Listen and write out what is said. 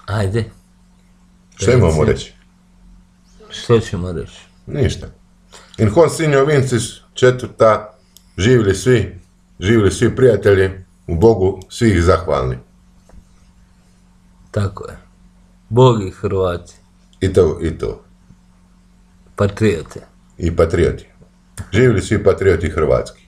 Ajde. Šta imamo reći? Što ćemo reći? Ništa. In hon sinjo vincis četvrta, živjeli svi prijatelji, u Bogu svih zahvalni. Tako je. Bog i Hrvati. I to. Patriote. I patrioti. Živjeli svi patrioti hrvatski.